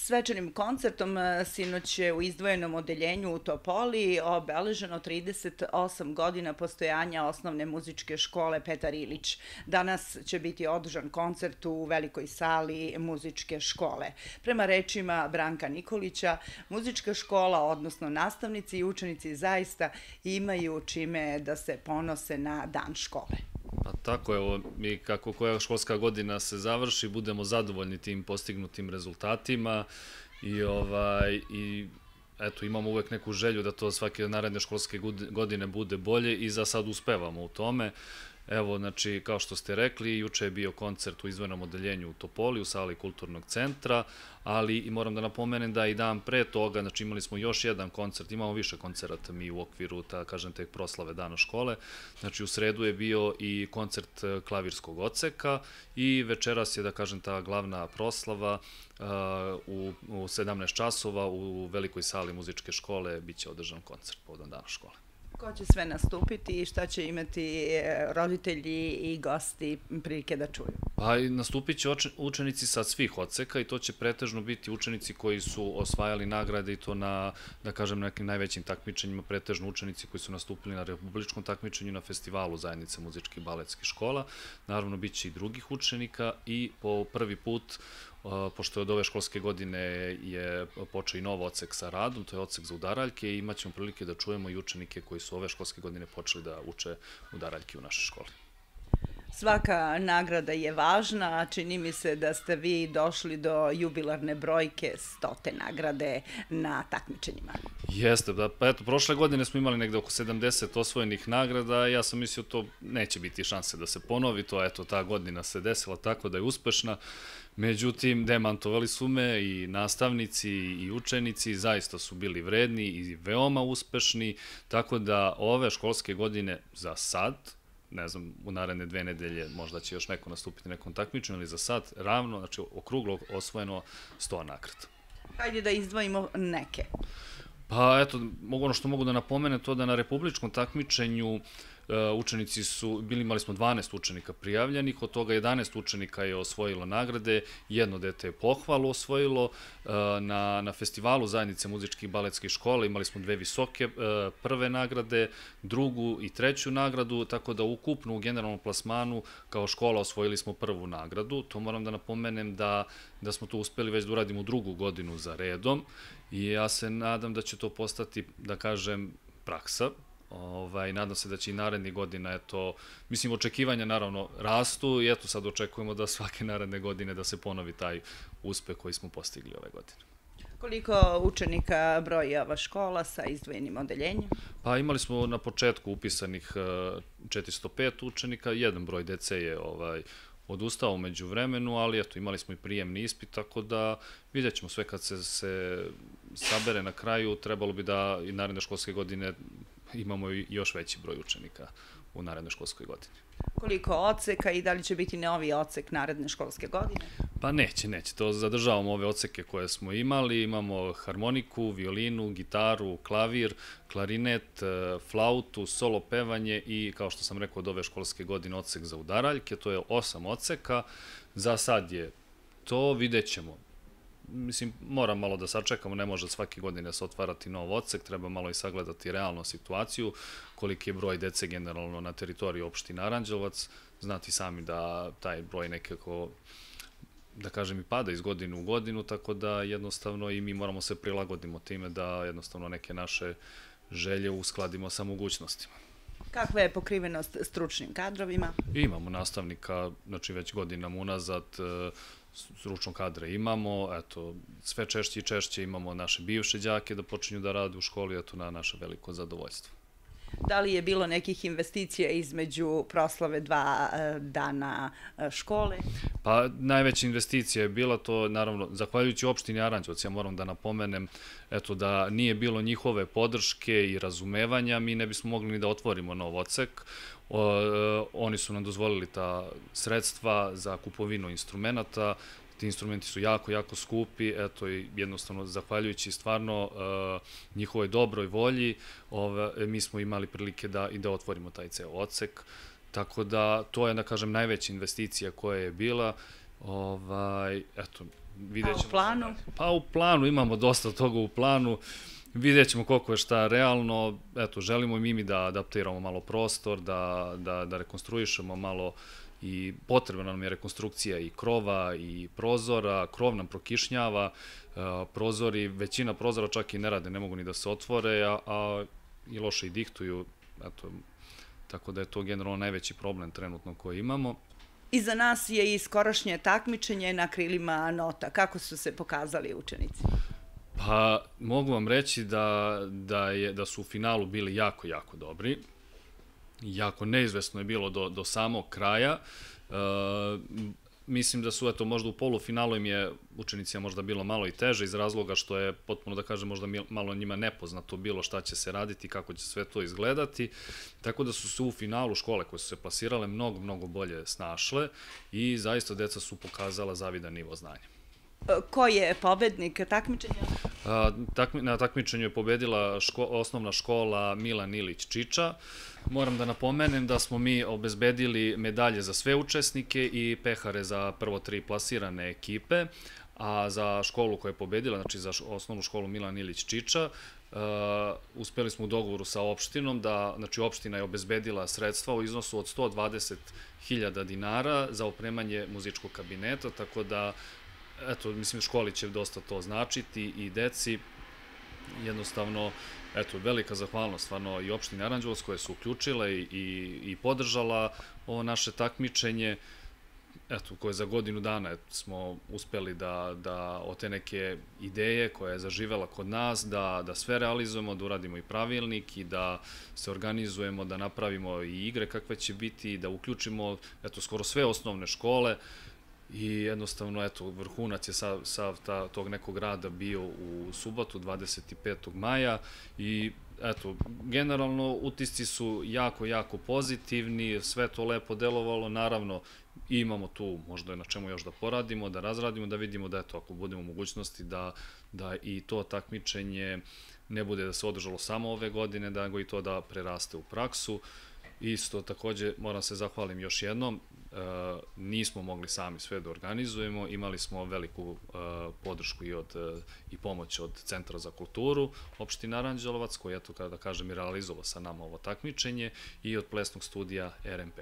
Svečanim koncertom sinoć je u izdvojenom odeljenju u Topoli obeleženo 38 godina postojanja osnovne muzičke škole Petar Ilić. Danas će biti održan koncert u velikoj sali muzičke škole. Prema rečima Branka Nikolića, muzička škola, odnosno nastavnici i učenici zaista imaju čime da se ponose na dan škole. Pa tako, evo, mi kako koja školska godina se završi, budemo zadovoljni tim postignutim rezultatima i eto, imamo uvek neku želju da to svake naredne školske godine bude bolje i za sad uspevamo u tome. Evo, znači, kao što ste rekli, juče je bio koncert u izdvojenom odeljenju u Topoli, u sali Kulturnog centra, ali i moram da napomenem da i dan pre toga, znači imali smo još jedan koncert, imamo više koncerata mi u okviru, kažem, te proslave Dana škole, znači u sredu je bio i koncert klavirskog odseka i večeras je, da kažem, ta glavna proslava u 17 časova u velikoj sali muzičke škole biće održan koncert povodom Dana škole. Ko će sve nastupiti i šta će imati roditelji i gosti prilike da čuju? Pa nastupit će učenici sa svih odseka i to će pretežno biti učenici koji su osvajali nagrade i to na, da kažem, nekim najvećim takmičenjima, pretežno učenici koji su nastupili na republičkom takmičenju na festivalu Zajednice muzičkih i baletskih škola. Naravno, bit će i drugih učenika i po prvi put, pošto je od ove školske godine je počeo i nov odsek sa radom, to je odsek za udaraljke i imat ćemo prilike da čujemo i učenike koji su ove školske godine počeli da uče udaraljke u našoj školi. Svaka nagrada je važna, čini mi se da ste vi došli do jubilarne brojke 100. nagrade na takmičenjima. Jeste, pa eto, prošle godine smo imali negde oko 70 osvojenih nagrada, ja sam mislio to neće biti šanse da se ponovi, to eto, ta godina se desila tako da je uspešna. Međutim, demantovali su me i nastavnici i učenici, zaista su bili vredni i veoma uspešni, tako da ove školske godine za sad, ne znam, u naredne 2 nedelje možda će još neko nastupiti nekom takmičenju, ali za sad ravno, znači okruglo osvojeno 100 nagrada. Hajde da izdvojimo neke. Pa eto, ono što mogu da napomenem to da na republičkom takmičenju učenici su, imali smo 12 učenika prijavljenih, od toga 11 učenika je osvojilo nagrade, jedno dete je pohvalu osvojilo, na festivalu Zajednice muzičkih i baletskih škola imali smo 2 visoke prve nagrade, drugu i treću nagradu, tako da ukupno u generalnom plasmanu kao škola osvojili smo prvu nagradu. To moram da napomenem da smo to uspeli već da uradimo drugu godinu za redom i ja se nadam da će to postati, da kažem, praksa. Nadam se da će i narednih godina, eto, mislim, očekivanja naravno rastu i eto sad očekujemo da svake naredne godine da se ponovi taj uspeh koji smo postigli ove godine. Koliko učenika broji ova škola sa izdvojenim odeljenjem? Pa imali smo na početku upisanih 405 učenika, jedan broj dece je odustao umeđu vremenu, ali eto, imali smo i prijemni ispit, tako da vidjet ćemo sve kad se sabere na kraju, trebalo bi da i naredne školske godine imamo i još veći broj učenika u narednoj školskoj godini. Koliko odseka i da li će biti novi odsek naredne školske godine? Pa neće. To zadržavamo ove odseke koje smo imali. Imamo harmoniku, violinu, gitaru, klavir, klarinet, flautu, solo pevanje i, kao što sam rekao, od ove školske godine odsek za udaraljke. To je 8 odseka. Za sad je to, vidjet ćemo. Mislim, moram malo da sačekamo, ne može svake godine se otvarati nov odsek, treba malo i sagledati realnu situaciju, koliki je broj dece generalno na teritoriji opštine Aranđelovac, znati sami da taj broj nekako, da kažem, i pada iz godine u godinu, tako da jednostavno i mi moramo se prilagodimo time da jednostavno neke naše želje uskladimo sa mogućnostima. Kakva je pokrivenost stručnim kadrovima? Imamo nastavnika, znači već godinama unazad, stručnog kadra imamo, eto, sve češće i češće imamo naše bivše đake da počinju da rade u školi, eto, na naše veliko zadovoljstvo. Da li je bilo nekih investicija između proslave 2 dana škole? Pa najveća investicija je bila to, naravno, zahvaljujući opštini Aranđelovac, ja moram da napomenem, eto, da nije bilo njihove podrške i razumevanja, mi ne bismo mogli ni da otvorimo nov odsek. Oni su nam dozvolili ta sredstva za kupovinu instrumenta, ti instrumenti su jako, jako skupi, eto, i jednostavno, zahvaljujući stvarno njihovoj dobroj volji, mi smo imali prilike da otvorimo taj ceo odsek, tako da to je, da kažem, najveća investicija koja je bila, eto, A u planu? Pa u planu imamo dosta toga u planu. Vidjet ćemo koliko je šta realno. Eto, želimo i mi da adaptiramo malo prostor, da rekonstruišemo malo i potrebna nam je rekonstrukcija i krova i prozora. Krov nam prokišnjava, prozori, većina prozora čak i ne rade, ne mogu ni da se otvore, a i loše i dihtuju. Eto, tako da je to generalno najveći problem trenutno koji imamo. Iza nas je i skorašnje takmičenje na krilima nota. Kako su se pokazali učenici? Pa, mogu vam reći da su u finalu bili jako, jako dobri. Jako neizvesno je bilo do samog kraja. Mislim da su, eto, možda u polufinalu im je učenicima možda bilo malo i teže iz razloga što je, potpuno da kažem, možda malo njima nepoznato bilo šta će se raditi, kako će sve to izgledati. Tako da su se u finalu škole koje su se plasirale mnogo, mnogo bolje snašle i zaista deca su pokazala zavidan nivo znanja. Ko je pobednik takmičenja? Na takmičenju je pobedila osnovna škola Milan Ilić Čiča. Moram da napomenem da smo mi obezbedili medalje za sve učesnike i pehare za prvo 3 plasirane ekipe, a za školu koja je pobedila, znači za osnovnu školu Milan Ilić Čiča, uspeli smo u dogovoru sa opštinom da, znači opština je obezbedila sredstva u iznosu od 120.000 dinara za opremanje muzičkog kabineta, tako da eto, mislim, školi će dosta to značiti i deci. Jednostavno, eto, velika zahvalnost stvarno i opštini Aranđelovac koje su uključile i podržala ovo naše takmičenje. Eto, koje za godinu dana smo uspeli da od te neke ideje koja je zaživela kod nas, da sve realizujemo, da uradimo i pravilnik i da se organizujemo, da napravimo i igre kakve će biti, da uključimo, eto, skoro sve osnovne škole. I jednostavno, eto, vrhunac je sav tog nekog rada bio u subotu, 25. maja i eto, generalno utisci su jako, jako pozitivni, sve to lepo delovalo, naravno imamo tu možda na čemu još da poradimo, da razradimo, da vidimo da eto, ako budemo u mogućnosti da i to takmičenje ne bude da se održalo samo ove godine, da go i to da preraste u praksu. Isto, takođe, moram se zahvalim još jednom, nismo mogli sami sve da organizujemo, imali smo veliku podršku i pomoć od Centra za kulturu opštine Aranđelovac, koji, eto, kada kažem, i realizovao sa nama ovo takmičenje i od plesnog studija RMP.